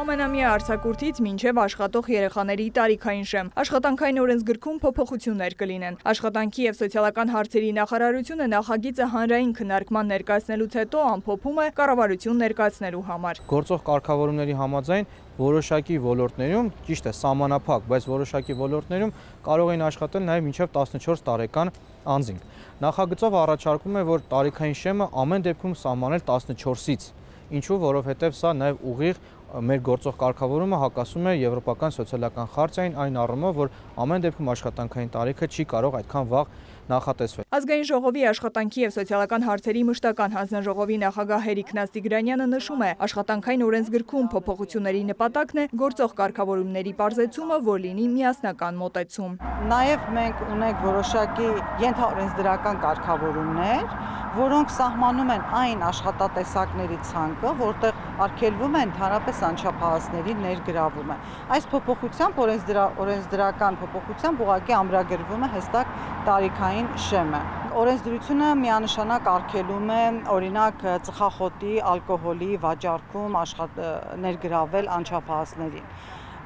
Ամենամյա արձակուրդից մինչև աշխատող երեխաների տարիքային շեմ։ Աշխատանքային օրենսգրքում փոփոխություններ կլինեն։ Աշխատանքի և սոցիալական հարցերի նախարարությունը նախագիծը հանրային քննարկման ներկայացնելուց հետո ամփոփում է կառավարություն ներկայացնելու համար։ Գործող կարգավորումների համաձայն որոշակի ոլորտներում, ճիշտ է, սահմանափակ, բայց որոշակի ոլորտներում կարող են աշխատել նաև մինչև 14 տարեկան անձինք։ Նախագծով առաջարկում է, որ տարիքային շեմը ամեն դեպքում սահմանել 14-ից։ Ինչու, որովհետև սա նաև ուղիղ մեր գործող կարգավորումը հակասում է Եվրոպական սոցիալական խարտիային այն առումով, որ ամեն դեպքում աշխատանքային տարիքը չի կարող այդքան վաղ նախատեսվել։ Ազգային ժողովի աշխատանքի և սոցիալական հարցերի մշտական հանձնաժողովի նախագահ Հերիկ Նաստիգրանյանը նշում է, աշխատանքային օրենսգրքում փոփոխությունների նպատակն է գործող կարգավորումների պարզեցումը, որ լինի միասնական մոտեցում։ Նաև մենք ունենք որոշակի ենթաօրենսդրական կարգավորումներ, որոնք սահմանում են այն աշխատատեսակների ցանկը, որտեղ արգելվում է ընդհանրապես անչափահասների ներգրավումը։ Այս փոփոխությամբ օրենսդրական փոփոխությամբ ուղղակի ամրագրվում է հստակ տարիքային շեմը։ Օրենսդրությունը միանշանակ արգելում է օրինակ ծխախոտի, ալկոհոլի վաճառքում ներգրավել անչափահասներին։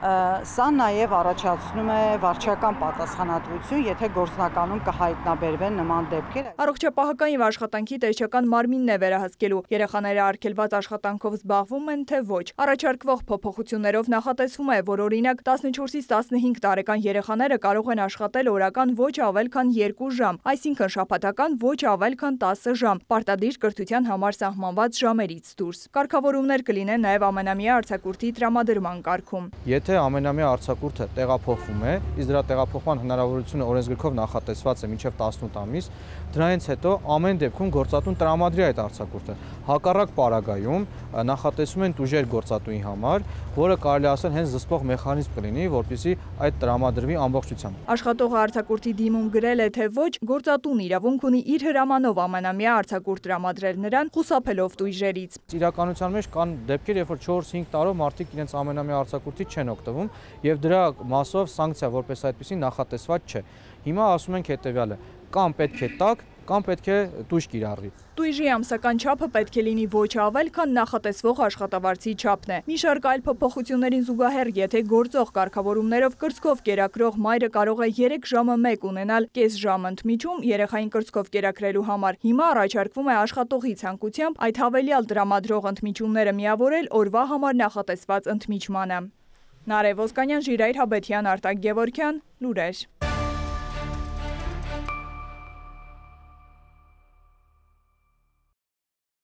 Սա նաև առաջացնում է վարչական պատասխանատվություն, եթե գործնականում կհայտնաբերվեն նման դեպքեր։ Առողջապահական և աշխատանքի տեսչական մարմինն է վերահսկելու, երեխաները արգելված աշխատանքով զբաղվում են, թե ոչ։ Առաջարկվող փոփոխություններով նախատեսվում է, որ օրինակ 14-ից 15 տարեկան երեխաները կարող են աշխատել օրական ոչ ավել քան 2 ժամ, այսինքն շաբաթական ոչ ավել քան 10 ժամ, պարտադիր կրթության համար սահմանված ժամերից դուրս։ Կարգավորումներ կլինեն նաև ամենամյա արձակուրդի տրամադրման կարգում։ Եթե ամենամյա արձակուրդը տեղափոխվում է, իսկ դրա տեղափոխման հնարավորությունը օրենսգրքով նախատեսված է մինչև 18 ամիս, դրանից հետո ամեն դեպքում գործատուն տրամադրի այդ արձակուրդը։ Հակառակ պարագայում նախատեսում են տուժեր գործատուի համար, որը կարելի ասել հենց զսպող մեխանիզմ կլինի, որպեսզի այդ տրամադրվի ամբողջությամբ։ Աշխատողը արձակուրդի դիմում գրել է, թե ոչ, գործատուն իրավունք ունի իր հրամանով ամենամյա արձակուրդ տրամադրել նրան, խուսափելով տույժերից։ Իրականության մեջ կան դեպքեր, երբ որ 4-5 տարով մարդիկ իրենց ամենամյա արձակուրդից չեն օգտվում, եւ դրա մասով սանկցիա որպես այդպեսի նախատեսված չէ։ Հիմա ասում ենք հետեւյալը. կամ պետք է տակ, կամ պետք է տույժ կիրառվի։ Տույժի ամսական չափը պետք է լինի ոչ ավել, քան նախատեսվող աշխատավարձի չափն է։ Մի շարք այլ փոփոխություններին զուգահեռ, եթե գործող կարգավորումներով կրծքով կերակրող մայրը կարող է 3 ժամը 1 ունենալ կես ժամ ընդմիջում երեխային կրծքով կերակրելու համար, հիմա առաջարկվում է աշխատողի ցանկությամբ այդ հավելյալ տրամադրող ընդմիջումները միավորել օրվա համար նախատեսված ընդմիջմանը։ Նարեկ Ոսկանյան, Ժիրայր Հաբետյան, Արտակ Գևորգյան, լուրեր։